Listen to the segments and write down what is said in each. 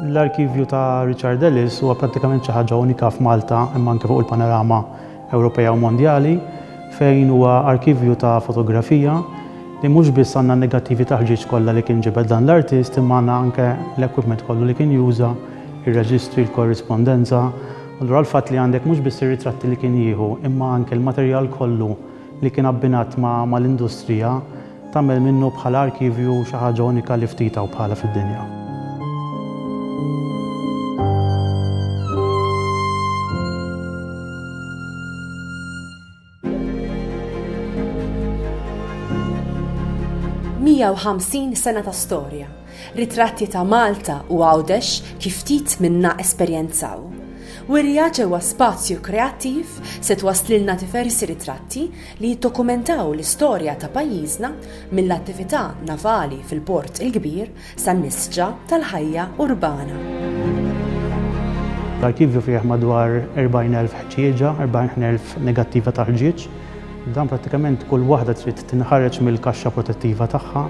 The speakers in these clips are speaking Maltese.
L-arkivju ta' Richard Ellis huwa prattikament xi ħaġa unika f'Malta imma anke fuq il-panorama Ewropea u mondjali fejn huwa arkivju ta' fotografija li mhux biss għandna n-negattivi ta' ħġieġ kollha li kien ġibed dan l-artist imma għandna anke l-equipment kollu li kien juża, ir-reġistri, l-korrispondenza. Allura l-fatt li għandek mhux biss ir-ritratti li kien jieħu imma anke l-materjal kollu li kien abbinat mal-industrija tagħmel minnu bħala arkivju xi ħaġa unika li ftit hawn bħalha fid-dinja. 150 sena ta' storja, ritratti ta' Malta u Għawdex kif ftit minna esperjenzaw. Wirja ġewwa Spazju Kreattiv se twasslilna diversi ritratti li jiddokumentaw l-istorja ta' pajjiżna mill-attività navali fil-Port il-Kbir san-nisġa tal-ħajja urbana. L-arkivju fih madwar 40,000 ħġieġa, 40,000 negattiva ta' ħġieġ. Dan prattikament kull waħda trid tinħareġ mill-kaxxa protettiva tagħha,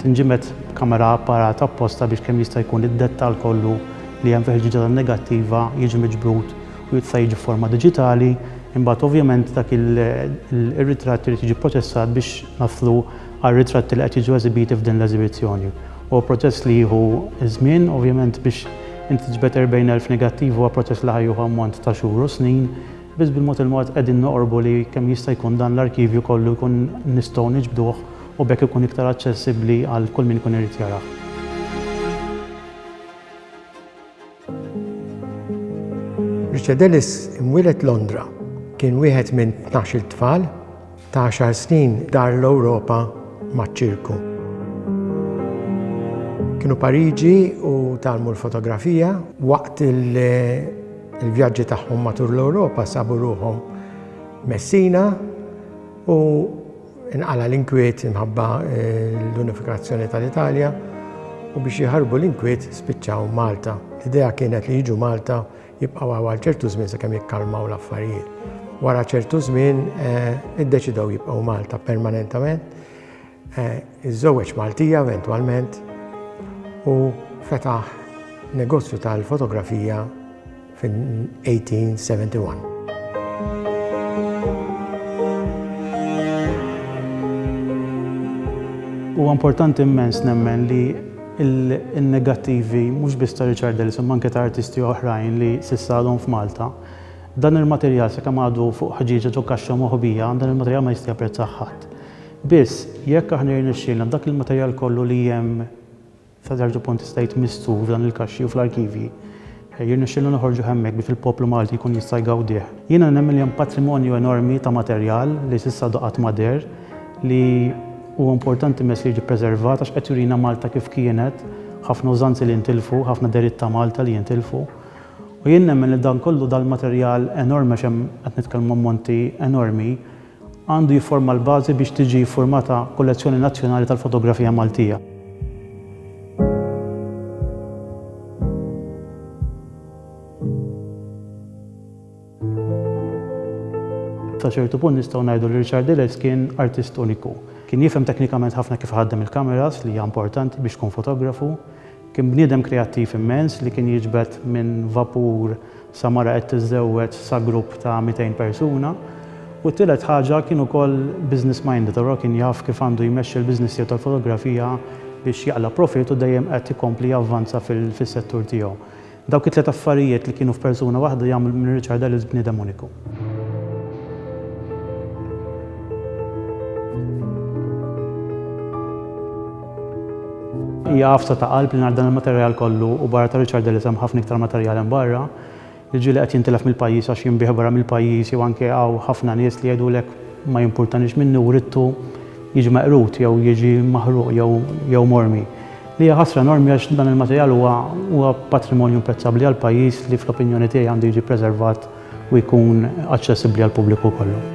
tinġimed b'kamera apparat apposta biex kemm jista' jkun id-dettall kollu li hemm fil-ħġieġa tan-negattiva jiġi miġbud u jista' jiġi f'forma diġitali, imbagħad ovvjament dak ir-ritratt irid jiġi pproċessat biex naslu għar-ritratti li qed jiġu eżibiti f'din l-eżibizzjoni. Huwa proċess li jieħu ż-żmien, ovvjament biex inti tiġbed 40,000 negattiv huwa proċess li ħa jieħu ammont ta' xhur u snin, biss bil-mod il-mod qegħdin noqorbu li kemm jista' jkun dan l-arkivju kollu jkun nistgħu niġbduh u b'hekk ikun iktar aċċessibbli għal kull min ikun irid jarah. Richard Ellis imwieled Londra. Kien wieħed minn tnax-il tfal. Ta' għaxar snin dar l-Ewropa maċ-ċirku. Kienu Pariġi u tgħallmu l-fotografija. Waqt il-vjaġġi tagħhom matul l-Ewropa sabu ruħhom Messina u Inqala' l-inkwiet imħabba l-unifikazzjoni tal-Italja u biex jaħarbu l-inkwiet spiċċaw Malta. L-idea kienet li jiġu Malta jibqgħu hawn għal ċertu żmien sakemm jikkalmaw l-affarijiet. Wara ċertu żmien iddeċidew jibqgħu Malta permanentament. Iżżewweġ Maltija eventwalment u fetaħ negozju tal-fotografija fin-1871. Huwa importanti immens nemmen li n-negattivi mhux biss ta' Richard Ellis imma anke ta' artisti oħrajn li s'issa għadhom f'Malta, dan il-materjal sakemm għadu fuq ħġieġa ġo kaxxa moħbija, dan il-materjal ma jista' japprezzah ħadd. Biss, jekk aħna jirnexxielna dak il-materjal kollu li hemm Sa ċertu punt tista' tgħid mistur f'dan il-kaxxi u fl-arkivji. Jirnexxielna noħorġuh hemmhekk biex il-poplu Malti jkun jista' jgawdih. Jiena nemmen li hemm patrimonju enormi ta' materjal li s'issa għadu qatt ma deher li huwa importanti immens li jiġi ppreservat għax qed jurina Malta kif kienet, ħafna użanzi li ntilfu, ħafna dehriet ta' Malta li jintilfu. U jien nemmen li dan kollu dal-materjal enormi għax hemm qed nitkellmu ammonti enormi, Għandu jifforma l-bażi biex tiġi ffurmata kollezzjoni nazzjonali tal-fotografija Maltija. Sa ċertu punt nistgħu ngħidu li Richard Ellis kien artist uniku. Kien jifhem teknikament ħafna kif iħaddem il-kameras li hija importanti biex tkun fotografu. Kien bniedem kreattiv immens li kien jiġbed minn vapur sa mara qed tiżżewweġ sa grupp ta' 200 persuna. U t-tielet ħaġa kien ukoll business minded, allura kien jaf kif għandu jmexxi l-business tiegħu tal-fotografija biex jaqla' profit u dejjem qed ikompli javvanza fis-settur tiegħu. Dawk it-tliet affarijiet li kienu f'persuna waħda jagħmlu minn Richard Ellis bniedem uniku. Hija għafsa ta' qalb li nhar dan il-materjal kollu u barra ta' Richard Ellis hemm ħafna iktar materjal hemm barra li ġieli qed jintilef mill-pajjiż għax jinbiegħ barra mill-pajjiż jew anke hawn ħafna nies li jgħidulek ma jimpurtanix minni u ridtu jiġi meqrud jew jiġi maħruq jew jew mormi. Li hija ħasra enormi għax dan il-materjal huwa huwa patrimonju imprezzabbli għall-pajjiż li fl-opinjoni tiegħi għandu jiġi ppreservat u jkun aċċessibbli għall-pubbliku kollu.